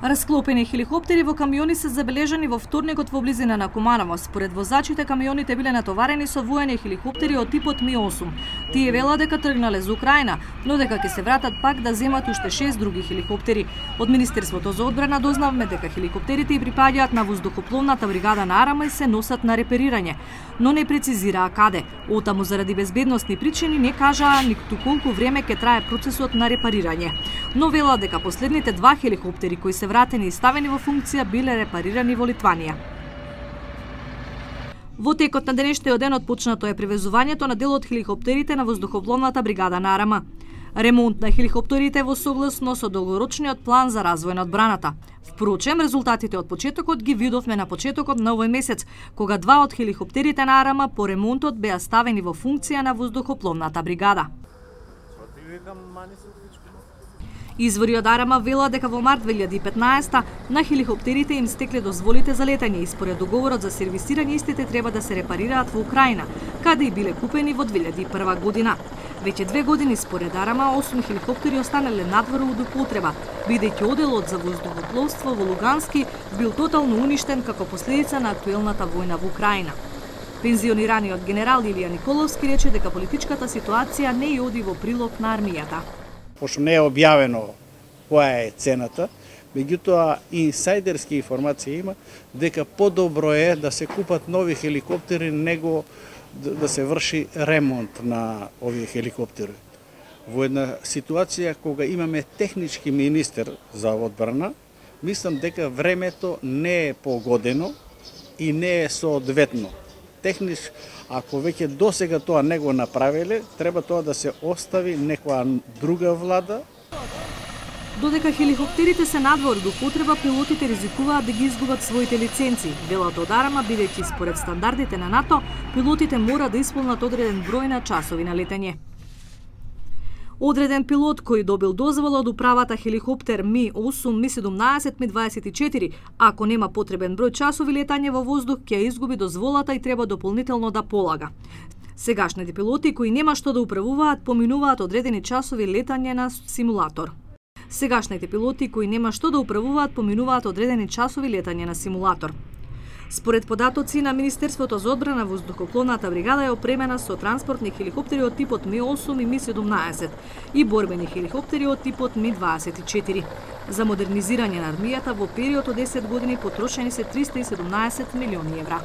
Расклопени хеликоптери во камиони се забележани во вторникот во близина на Куманово. Според возачите, камионите биле натоварени со воени хеликоптери од типот Ми-8. Тие велат дека тргнале за Украина, но дека ќе се вратат пак да земат уште 6 други хеликоптери. Од Министерството за одбрана дознавме дека хеликоптерите припаѓаат на воздухопловната бригада на Арама и се носат на реперирање, но не прецизираа каде. Отаму заради безбедносни причини не кажаа ниту колку време ќе трае процесот на репарирање. Но велат дека последните 2 хеликоптери кои се вратени и ставени во функција биле репарирани во Литванија. Во текот на денешниот ден отпочнато е превезувањето на дел од хеликоптерите на воздухопловната бригада на Арама. Ремонт на хеликоптерите во согласно со долгорочниот план за развој на одбраната. Впрочем, резултатите од почетокот ги видовме на почетокот на овој месец, кога 2 од хеликоптерите на Арама по ремонтот беа ставени во функција на воздухопловната бригада. Извори од Арама велат дека во март 2015 на хеликоптерите им стекле дозволите за летање и според договорот за сервисирање истите треба да се репарираат во Украина, каде и биле купени во 2001 година. Веќе 2 години според Арама 8 хеликоптери останале надвор од употреба, бидејќи оделот за воздухопловство во Лугански бил тотално уништен како последица на актуелната војна во Украина. Пензионираниот генерал Илија Николовски рече дека политичката ситуација не ја оди во прилог на армијата. Пошто не е објавено која е цената, меѓутоа инсайдерски информации има дека подобро е да се купат нови хеликоптери него да се врши ремонт на овие хеликоптери. Во една ситуација кога имаме технички министер за одбрана, мислам дека времето не е погодено и не е соодветно. Ако веќе досега тоа не го направиле, треба тоа да се остави некоја друга влада. Додека хеликоптерите се надвор до употреба, пилотите ризикуваат да ги изгубат своите лиценци. Велат од Арама, бидејќи според стандардите на НАТО, пилотите мора да исполнат одреден број на часови на летање. Одреден пилот кој добил дозвола од управата хеликоптер Ми-8, Ми-17, Ми-24, ако нема потребен број часови летање во воздух, ќе изгуби дозволата и треба дополнително да полага. Сегашните пилоти кои нема што да управуваат, поминуваат одредени часови летање на симулатор. Според податоци на Министерството за одбрана, воздухопловната бригада е опремена со транспортни хеликоптери од типот Ми-8 и Ми-17 и борбени хеликоптери од типот Ми-24. За модернизирање на армијата во период од 10 години потрошени се 317 милиони евра.